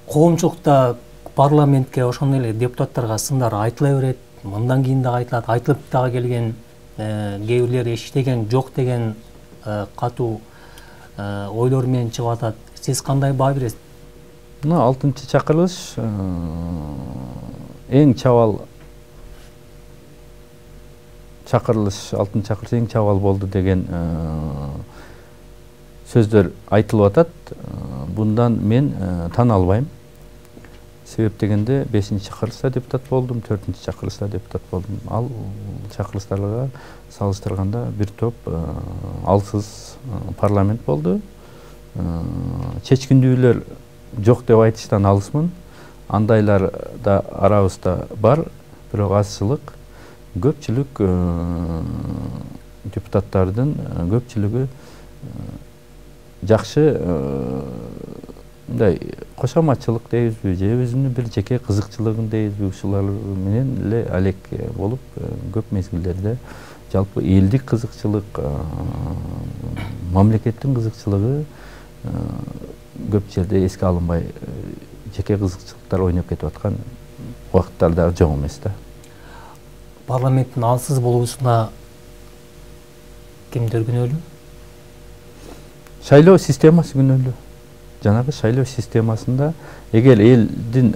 коомчулукта парламентке ошондой эле депутаттарга сындар айтыла берет, мындан кийин дагы айтылат, айтылып дагы келген, кээ бирлери иштеген жок деген катуу ойлор менен чыгып атат. Сиз кандай баа бересиз? Мына 6-чакырылыш эң чабал чакырылыш, 6-чакырылыш эң чабал болду деген сөздөр айтылып атат. Bundan мен тана албайм. Себеп дегенде 5-чакырылышта депутат болдум, 4-чакырылышта депутат болдум. Ал чакырылыштарга салыштырганда бир топ алсыз парламент болду. Чечкиндүүлөр жок деп айтыштан алысмын. Андайлар да арабызда бар, бирок азчылык. Көпчүлүк депутаттардын көпчүлүгү жакшы мындай кошоматчылык дейбизби, же өзүнүн бир жеке кызыкчылыгын дейбизби, ушулар менен эле алек болуп көп мезгилдерде жалпы элдик кызыкчылык, мамлекеттин кызыкчылыгы көп жерде эске алынбай жеке кызыкчылыктар ойноп кетип аткан убакыттар да жок эмес да. Парламенттин алсыз болуусуна кимдер күнөөлүү? Шайлоо системасы күнөөлүү. Жанагы шайлоо системасында эгер элдин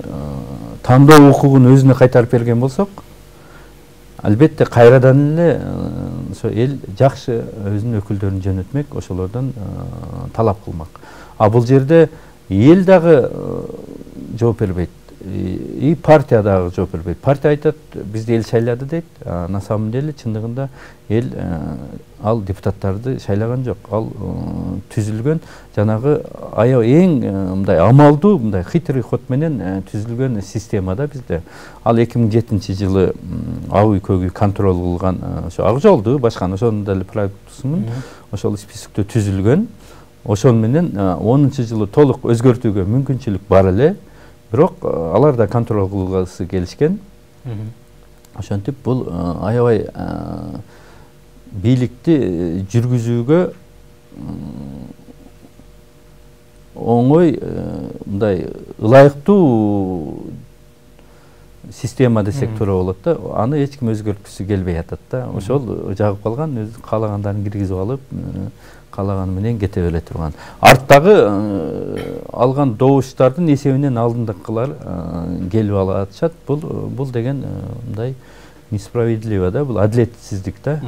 тандоо укугун өзүнө кайтарып берген болсок, албетте кайрадан эле ошо эл жакшы өзүнүн өкүлдөрүн жөнөтмөк, ошолордон талап кылмак. А бул жерде эл дагы жооп бербейт. И партия дагы жооп бербейт. Партия айтат, бизди эл шайлады дейт. На самом деле чындыгында эл ал депутаттарды шайлаган жок. Ал түзүлгөн жанагы аябай эң мындай амалдуу, мындай хитрый ход менен түзүлгөн системада бизде. Ал 2007-жылы ак үй көк үй контроль кылган ошо Ак Жолду, башканы ошонун деле продуктусумун. Ошол списокто түзүлгөн. Ошон менен 10-жылы толук өзгөртүүгө мүмкүнчүлүк бар эле. Бирок алар да контроль кылгысы келишкен. Ошентип бул аябай бийликти жүргүзүүгө оңой мындай ылайыктуу система десек туура болот да. Аны эч ким өзгөрткүсү келбей атат да. Ошол жагып калган, өз каалагандарын киргизип алып, каалаганы менен кете бере турган. Арттагы алган добуштардын эсебинен алдындыкылар келип алышат. Бул деген мындай несправедливо да, бул адилетсиздик да.